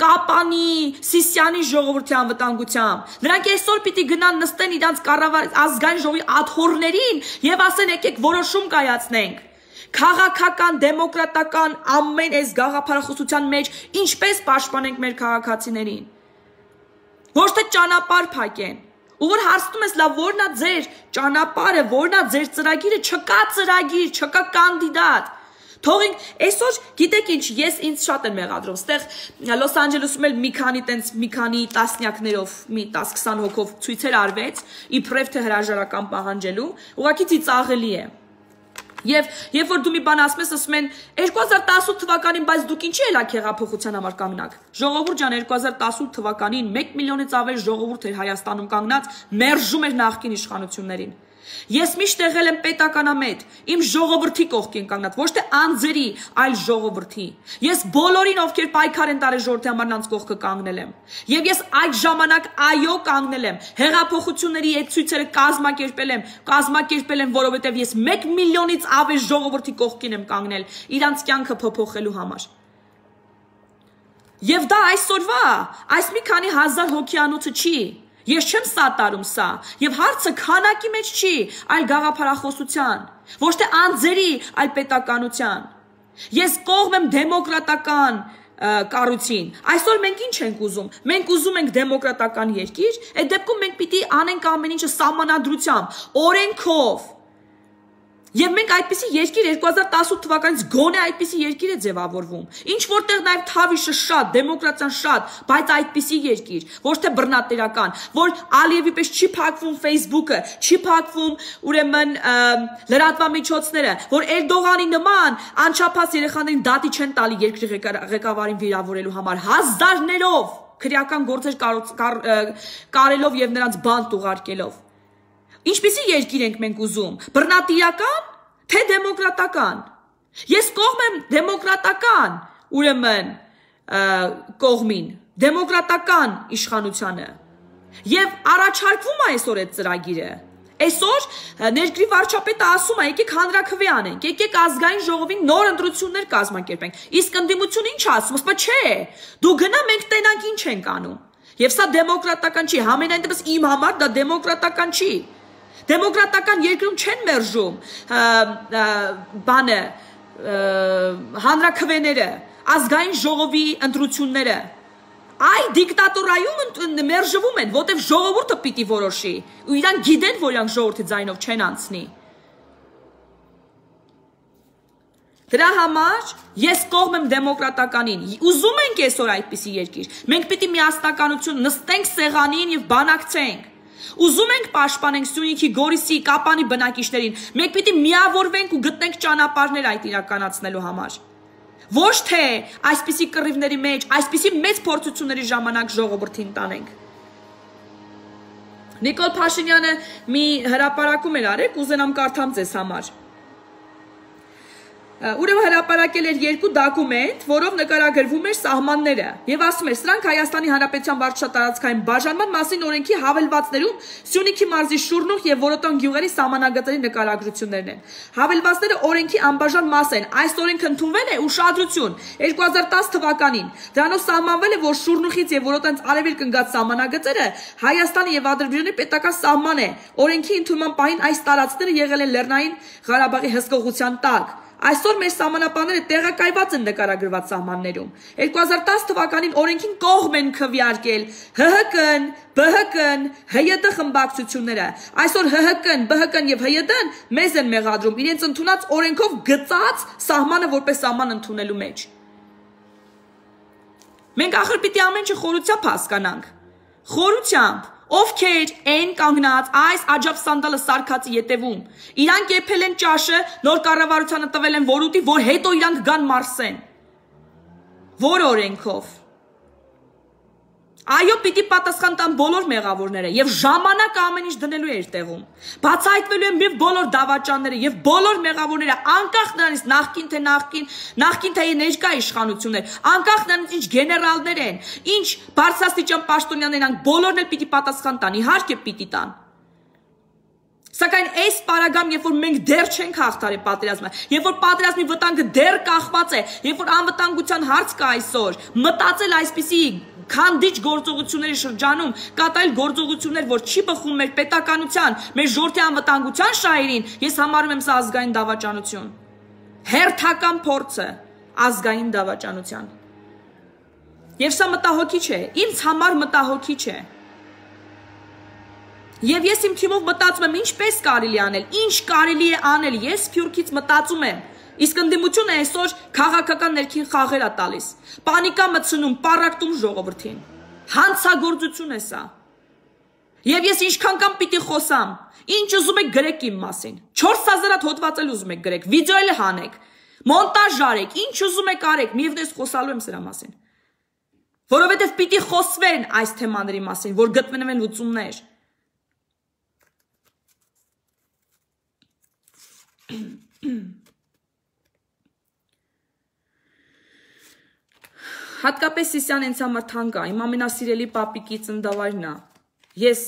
Կապանի, Սիսիանի ժողովրդի անվտանգությամբ, նրանք այսօր պիտի գնան նստեն իրանց կառավար ազգային ժողովի աթոռներին եւ ասեն եկեք որոշում կայացնենք։ Քաղաքական, դեմոկրատական ամեն այս գաղափարախոսության մեջ ինչպես պաշտպանենք մեր քաղաքացիներին։ Ոչ թե ճանապարհ փակեն։ Ու որ հարցնում ես, լավ, որն է ձեր ճանապարհը, որն է ձեր ծրագիրը, չկա ծրագիր, չկա կանդիդատ։ Թողենք այսօր, գիտեք ինչ, ես ինձ շատ եմ մեղադրում, ստեղ Լոս Անջելեսում էլ մի քանի տենց մի քանի տասնյակներով, մի տասը քսան հոգով ցույցեր արվեց, իբրև թե հրաժարական պահանջելու, ուղղակի ծիծաղելի է։ Եվ երբ որ դու մի բան ասում ես, ասում են երկու հազար տասութ թվականին, բայց դուք ինչի ելաք հեղափոխության համար կանգնակ։ Ժողովուրդ ջան, երկու հազար տասութ թվականին մեկ միլիոնից ավել ժողովուրդ էր Հայաստանում կանգնած, մերժում էր նախկին իշխանություններին։ Ես միշտ եղել եմ պետականամետ, իմ ժողովրդի կողքին կանգնած, ոչ թե անձերի, այլ ժողովրդի։ Ես բոլորին, ովքեր պայքար են տարել ժողովրդի համար, նրանց կողքը կանգնել եմ։ Եվ ես այդ ժամանակ այո կանգնել եմ։ Հեղափոխությունների այդ ցույցերը կազմակերպել եմ, կազմակերպել եմ, որովհետև ես մեկ միլիոնից ավել ժողովրդի կողքին եմ կանգնել, իրանց կյանքը փոփոխելու համար։ Եվ դա այսօրվա, այս մի քանի հազար հոգյանոցը չի։ Ես չեմ սատարում սա, եւ հարցը քանակի մեջ չի, այլ գաղափարախոսության, ոչ թե անձերի, այլ պետականության։ Ես կողմ եմ դեմոկրատական կառույցին։ Այսօր մենք ինչ ենք ուզում։ Մենք ուզում ենք դեմոկրատական երկիր, այդ դեպքում մենք պիտի անենք ամեն ինչը սահմանադրությամբ, օրենքով։ Եվ մենք այդպիսի երկիր երկու հազար տասութ թվականից գոնե այդպիսի երկիր է ձևավորվում։ Ինչ որտեղ նաև Թավիշը շատ, դեմոկրատիան շատ, բայց այդպիսի երկիր, ոչ թե բռնատերական, որ Ալիևի պես չի փակվում Facebook-ը, չի փակվում ուրեմն լրատվամիջոցները, որ Էրդողանի նման անչափահաս երեխաներին դատի չեն տալի երկրի ղեկավարին վիրավորելու համար, հազարներով քրեական գործեր կարելով եւ նրանց բանտ ուղարկելով։ Ինչպիսի երկիր ենք մենք ուզում, բռնատիրական, թե դեմոկրատական։ Ես կողմ եմ դեմոկրատական, ուրեմն կողմին, դեմոկրատական իշխանությանը։ Եվ առաջարկվում է այսօր այդ ծրագիրը։ Այսօր ներգրի վարչապետը ասում է, եկեք հանրաքվե անենք, եկեք ազգային ժողովին նոր ընտրություններ կազմակերպենք։ Իսկ ընդդիմությունը ինչ ասում, ասում է, չէ, դու գնա, մենք տենանք ինչ ենք անում։ Եվ սա դեմոկրատական չի, համենայն դեպս իմ համար դա դեմոկրատական չի։ Դեմոկրատական երկրում չեն մերժում բանը հանրաքվեները, ազգային ժողովի ընտրությունները։ Այ դիկտատորայում մերժվում են, որտեվ ժողովուրդը պիտի որոշի, ու իրանք գիտեն, որ իրանք ժողովրդի ձայնով չեն անցնի։ Դրա համար ես կողմ եմ դեմոկրատականին, ուզում ենք այսօր այդպիսի երկիր, մենք պիտի միասնականություն նստենք սեղանին և բանակցենք, ուզում ենք պաշտպանենք Սյունիքի, Գորիսի, Կապանի բնակիչներին, մենք պիտի միավորվենք ու գտնենք ճանապարհներ այդ իրականացնելու համար։ Ոչ թե այսպիսի կռիվների մեջ, այսպիսի մեծ փորձությունների ժամանակ ժողովրդին տանենք։ Նիկոլ Փաշինյանը մի հրապարակում էր արել, կուզենամ կարդամ ձեզ համար։ Ուրեմն հրապարակել էր երկու դոկումենտ, որով նկարագրվում էր սահմանները, եւ ասում էր, սրանք Հայաստանի Հանրապետության վարչատարածքային բաժանման մասին օրենքի հավելվածներում Սյունիքի մարզի Շուրնուղ եւ Որոտոն գյուղերի սահմանագծերի նկարագրություններն են։ Հավելվածները օրենքի անբաժան մաս են։ Այս օրենքը ընդունվել է ուշադրություն երկու հազար տասը թվականին։ Դրանով սահմանվել է, որ Շուրնուղից եւ Որոտոնից արևելք ընկած սահմանագծերը Հայաստանի եւ Ադրբեջանի պետական սահման է։ Օրենքի ընդունման պահին այս տարածքները եղել են Լեռնային Ղարաբաղի հսկողության տակ։ Այսօր մեր սահմանապահները տեղակայված են նկարագրված սահմաններում։ երկու հազար տասը թվականին օրենքին կողմ են քվեարկել Հ Հ Կ-ն, B H K-ն, H Y D խմբակցությունները։ Այսօր H H K-ն, B H K-ն եւ H Y D-ն մեզ են մեղադրում իրենց ընդունած օրենքով գծած սահմանը որպես սահման ընդունելու մեջ։ Մենք ախր պիտի ամեն ինչ խորությամբ հասկանանք։ Խորությամբ Ովքեր են կանգնած այս աջափ սանդալը սարքածի ետևում։ Իրանք եփել են ճաշը, նոր կառավարությանը տվել են որուտի, որ հետո իրանք գան մարսեն։ Որ օրենքով։ Այո, պիտի պատասխան տան բոլոր մեղավորները եւ ժամանակը ամեն ինչ դնելու է իր տեղում։ Բացահայտվելու են եւ բոլոր դավաճանները եւ բոլոր մեղավորները, անկախ նրանից նախքին թե նախքին, նախքին թե ներկա իշխանություններ, անկախ նրանից ինչ գեներալներ են, ինչ բարձրաստիճան պաշտոնյաներ են, բոլորն էլ պիտի պատասխան տան, իհարկե պիտի տան։ Սակայն այս պարագայում, երբ որ մենք դեռ չենք հաղթարել պատերազմը, երբ որ պատերազմի վտանգը դեռ կախված է, երբ որ անվտանգության հարց կա այսօր, մտածել այսպիսի քանդիչ գործողությունների շրջանում կատարել գործողություններ, որ չի բխում մեր պետականության, մեր ժողովրդի անվտանգության շահերին, ես համարում եմ սա ազգային դավաճանություն։ Հերթական փորձը ազգային դավաճանության։ Եվ սա մտահոգիչ է, ինձ համար մտահոգիչ է։ Եվ ես իմ թիմով մտածում եմ, ինչպես կարելի անել, ինչ կարելի է անել, ես Սփյուռքից մտածում եմ, իսկ ընդդիմությունը այսօր քաղաքական ներքին խաղեր է տալիս, պանիկա մտցնում, պառակտում ժողովրդին, հանցագործություն է սա։ Եվ ես ինչքան կամ պիտի խոսամ, ինչ ուզում եք գրեք իմ մասին, չորս հազար հատ հոդված էլ ուզում եք գրեք, վիդեո էլ հանեք, մոնտաժ արեք, ինչ ուզում եք արեք, միևնույն ես խոսալու եմ սրա մասին, որովհետև պիտի խոսվեն այս թեմաների մասին, որ գտնվեն լուծումներ։ Հատկապես Սիսյան ինձ համար թանկ է, իմ ամենասիրելի պապիկի ծննդավայրն է։ Ես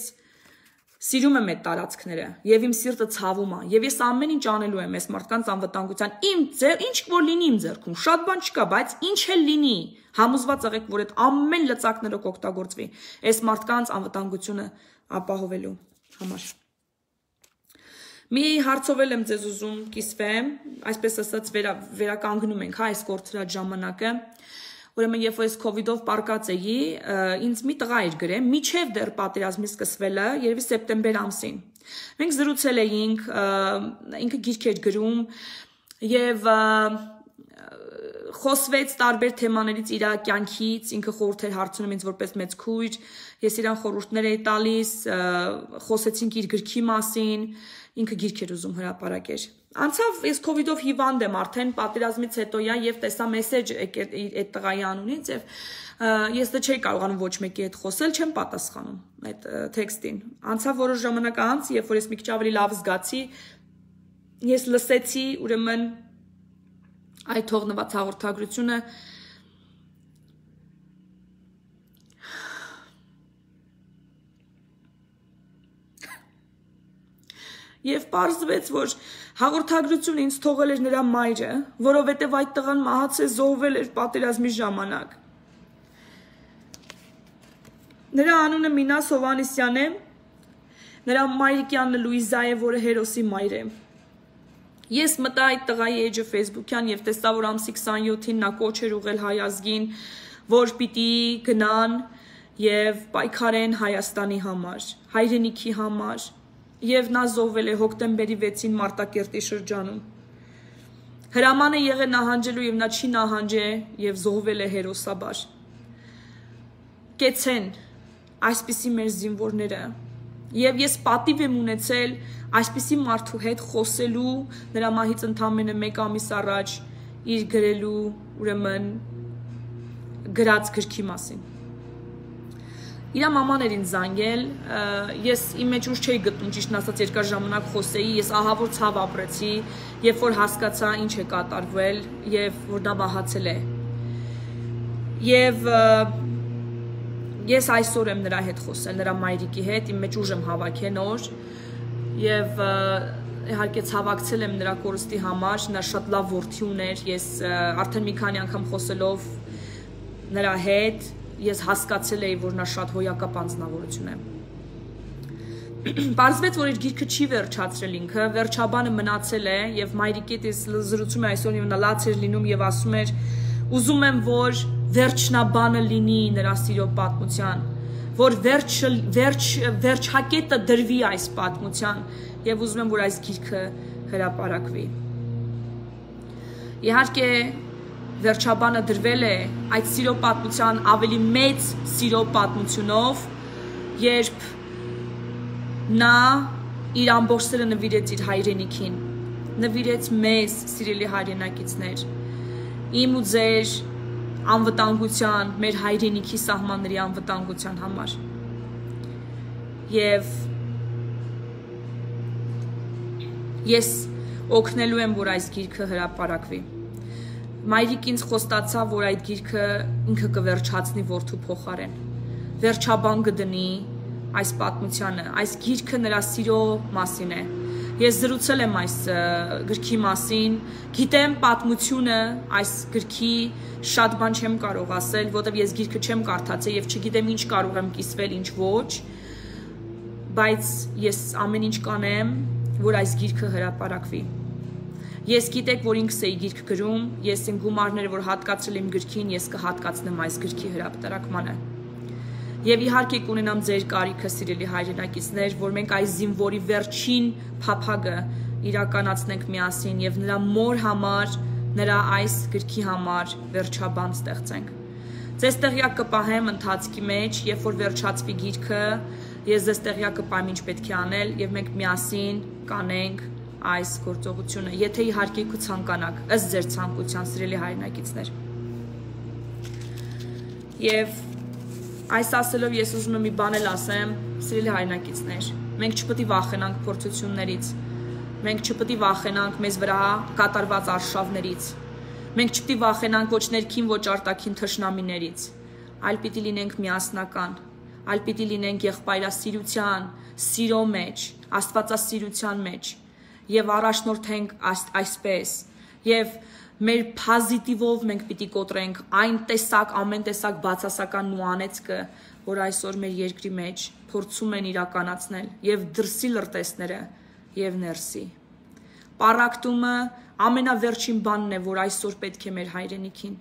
սիրում եմ այդ տարածքները եւ իմ սիրտը ցավում է եւ ես ամեն ինչ անելու եմ այս մարդկանց անվտանգության։ Իմ ձեր ինչ որ լինի իմ ձեռքում, շատ բան չկա, բայց ինչ էլ լինի, համոզված եղեք, որ այդ ամեն լծակներով կօգտագործվի այս մարդկանց անվտանգությունը ապահովելու համար։ Մի հարցով եմ ձեզ ուզում կիսվեմ, այսպես ասած վերականգնում ենք հա այս կորցրած ժամանակը։ Ուրեմն երբ որ ես քովիդով պարկած էի, ինձ մի տղա էր գրել, միջև դեռ պատերազմի սկսվելը, երևի սեպտեմբեր ամսին։ Մենք զրուցել էինք, ինքը գիրք էր գրում եւ խոսվեց տարբեր թեմաներից իր կյանքից, ինքը խորհուրդ էր հարցնում ինձ որպես մեծ քույր, ես իրան խորհուրդներ էի տալիս, խոսեցինք իր գրքի մասին, ինքը գիրք էր ուզում հրապարակեր։ Անցավ, ես քովիդով հիվանդ եմ արդեն, պատերազմից հետո յա եւ տեսա մեսեջ այդ տղայի անունից եւ ես դա չէի կարողանում ոչ մեկի հետ խոսել, չեմ պատասխանում այդ տեքստին։ Անցավ որոշ ժամանակ անց, երբ որ ես մի քիչ ավելի լավ զգացի, ես լսեցի, ուրեմն այդ թողնված հաղորդագրությունը Եվ պարզվեց, որ հաղորդագրությունը ինձ թողել էր նրա մայրը, որովհետև այդ տղան մահացել զոհվել էր պատերազմի ժամանակ։ Նրա անունը Մինաս Հովհաննիսյան է, նրա մայրիկյանն Լուիզա է, որը հերոսի մայր է։ Ես մտա այդ տղայի էջը Facebook-յան եւ տեսա, որ ամսի քսանյոթին նա կոչ էր ուղղել հայ ազգին, որ պիտի գնան եւ պայքարեն Հայաստանի համար, հայրենիքի համար։ Եվ նա զոհվել է հոկտեմբերի վեցին Մարտակերտի շրջանում։ Հրաման է եղել նահանջելու եւ նա չի նահանջե եւ զոհվել է հերոսաբար։ Կեցեն այսպիսի մեր զինվորները եւ ես պատիվ եմ ունեցել այսպիսի մարդու հետ խոսելու նրա մահից ընդամենը մեկ ամիս առաջ իր գրելու ուրեմն գրած գրքի մասին։ Իրա մաման էր ինձ զանգել, ես իմ մեջ ուժ չէի գտնում, ճիշտն ասած երկար ժամանակ խոսեի, ես ահավոր ցավ ապրեցի, երբ որ հասկացա ինչ է կատարվել եւ որ դա վահացել է։ Եվ ես այսօր եմ նրա հետ խոսել, նրա մայրիկի հետ, իմ մեջ ուժ եմ հավաքել նոր եւ իհարկե ցավակցել եմ նրա կորստի համար, նա շատ լավ որդի ուներ, ես արդեն մի քանի անգամ խոսելով նրա հետ ես հասկացել էի, որ նա շատ հոյակապ անձնավորություն է։ Պարզվեց, որ իր գիրքը չի վերջացրել ինքը, վերջաբանը մնացել է եւ մայրիկիդ ես զրուցում է այսօր եւ նա լաց էր լինում եւ ասում էր ուզում եմ, որ վերջնաբանը լինի նրա սիրո պատմության, որ վերջ վերջ վերջակետը դրվի այս պատմության եւ ուզում եմ, որ այս գիրքը հրապարակվի։ Իհարկե վերջաբանը դրվել է այդ սիրո պատմության ավելի մեծ սիրո պատմությունով, երբ նա իր ամբողջ սերը նվիրեց իր հայրենիքին, նվիրեց մեզ, սիրելի հայրենակիցներ, իմ ու ձեր անվտանգության, մեր հայրենիքի սահմանների անվտանգության համար։ Եվ ես օգնելու եմ, որ այս գիրքը հրապարակվի։ Մայրիկ ինձ խոստացավ, որ այդ գիրքը ինքը կվերջացնի որդու փոխարեն, վերջաբան կդնի այս պատմությանը, այս գիրքը նրա սիրո մասին է։ Ես զրուցել եմ այս գրքի մասին, գիտեմ պատմությունը այս գրքի շատ բան չեմ կարող ասել, որտեղ ես գիրքը չեմ կարդացել եւ չգիտեմ ինչ կարող եմ կիսվել, ինչ ոչ, բայց ես ամեն ինչ կանեմ, որ այս գիրքը հրապարակվի։ Ես գիտեք, որ ինքս էի գիրք գրում, ես իմ գումարները, որ հատկացրել եմ գրքին, ես կհատկացնեմ այս գրքի հրապարակմանը։ Եվ իհարկե կունենամ ձեր կարիքը, սիրելի հայրենակիցներ, որ մենք այս զինվորի վերջին փափագը իրականացնենք միասին եւ նրա մոր համար, նրա այս գրքի համար վերջաբան ստեղծենք։ Ձեզ տեղյակ կպահեմ ընթացքի մեջ, երբ որ վերջացվի գիրքը, ես ձեզ տեղյակ կպահեմ ինչ պետք է անել եւ մենք միասին կանենք այս գործողությունը, եթե իհարկե կցանկանաք, ըստ ձեր ցանկության, սիրելի հայրենակիցներ։ Եվ այս ասելով ես ուզում եմ մի բան էլ ասեմ, սիրելի հայրենակիցներ, մենք չպետք է վախենանք փորձություններից, մենք չպետք է վախենանք մեզ վրա կատարված արշավներից, մենք չպետք է վախենանք ոչ ներքին, ոչ արտաքին թշնամիներից, այլ պիտի լինենք միասնական, այլ պիտի լինենք եղբայրասիրության, սիրո մեջ, աստվածասիրության մեջ եւ առաջնորդենք այսպես եւ մեր պոզիտիվով մենք պիտի կոտրենք այն տեսակ ամեն տեսակ բացասական ու անեծքը, որ այսօր մեր երկրի մեջ փորձում են իրականացնել եւ դրսի լրտեսները եւ ներսի։ Պարակտումը ամենավերջին բանն է, որ այսօր պետք է մեր հայրենիքին։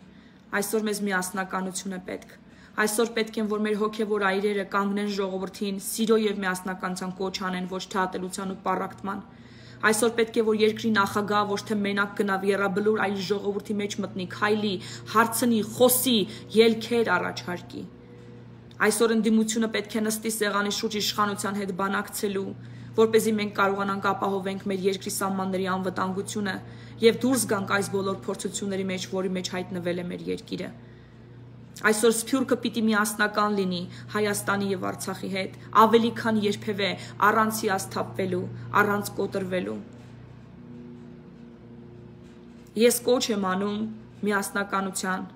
Այսօր մեզ միասնականություն է պետք։ Այսօր պետք է, որ մեր հոգեվոր այրերը կանգնեն ժողովրդին, սիրո եւ միասնականության կոչ անեն, ոչ թե ատելության ու պարակտման։ Այսօր պետք է որ երկրի նախագահ ոչ թե մենակ գնավ եռաբլուր, այլ ժողովրդի մեջ մտնի, քայլի, հարցնի, խոսի, ելքեր առաջարկի։ Այսօր ընդդիմությունը պետք է նստի սեղանի շուրջ իշխանության հետ բանակցելու, որպեսզի մենք կարողանանք ապահովենք մեր երկրի սահմանների անվտանգությունը եւ դուրս գանք այս բոլոր փորձությունների մեջ, որի մեջ հայտնվել է մեր երկիրը։ Այսօր Սփյուռքը պիտի միասնական լինի Հայաստանի եւ Արցախի հետ, ավելի քան երբևէ, առանց հիասթափվելու, առանց կոտրվելու։ Ես կոչ եմ անում միասնականության,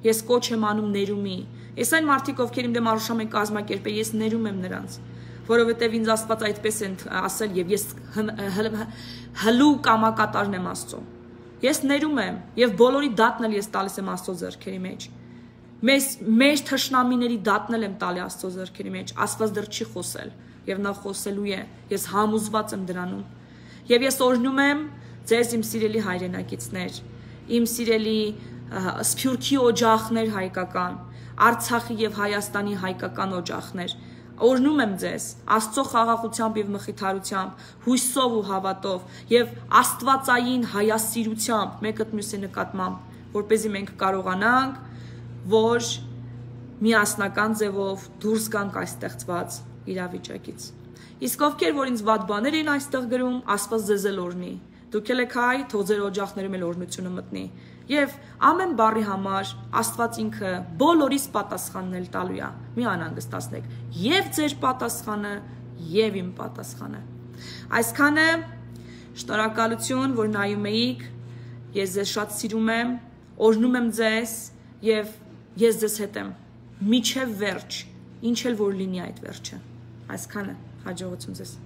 ես կոչ եմ անում ներումի։ Ես այն մարդիկ, ովքեր իմ դեմ արուշամ են կազմակերպել, ես ներում եմ նրանց, որովհետեւ ինձ Աստված այդպես են ասել եւ ես հլու կամակատարն եմ Աստծո։ Ես ներում եմ եւ բոլորի դատն էլ ես տալիս եմ Աստծո ձեռքերի մեջ։ Մեզ մեր թշնամիների դատն եմ տալի Աստծո ձեռքերի մեջ, Աստված դեռ չի խոսել եւ նա խոսելու է, ես համոզված եմ դրանում։ Եվ ես օրհնում եմ ձեզ իմ սիրելի հայրենակիցներ, իմ սիրելի Սփյուռքի օջախներ հայկական, Արցախի եւ Հայաստանի հայկական օջախներ, օրհնում եմ ձեզ Աստծո խաղաղությամբ եւ մխիթարությամբ, հույսով ու հավատով եւ աստվածային հայասիրությամբ մեկը մյուսի նկատմամբ, որպեսզի մենք կարողանանք որ միասնական ձևով դուրս գանք այս ստեղծված իրավիճակից։ Իսկ ովքեր որ ինձ վատ բաներ են այստեղ գրում, Աստված ձեզ էլ օրհնի։ Դուք եք հայ, թող ձեր օջախներում էլ օրհնությունը մտնի։ Եվ ամեն բառի համար Աստված ինքը բոլորիս պատասխանն էլ տալու է։ Մի անհանգստացնեք։ Եվ ձեր պատասխանը, եւ իմ պատասխանը։ Այսքանը շնորհակալություն, որ նայում էիք։ Ես ձեզ շատ սիրում եմ, օրհնում եմ ձեզ եւ ես ձեզ հետ եմ միջև վերջ, ինչ էլ որ լինի այդ վերջը։ Այսքանը, հաջողություն ձեզ։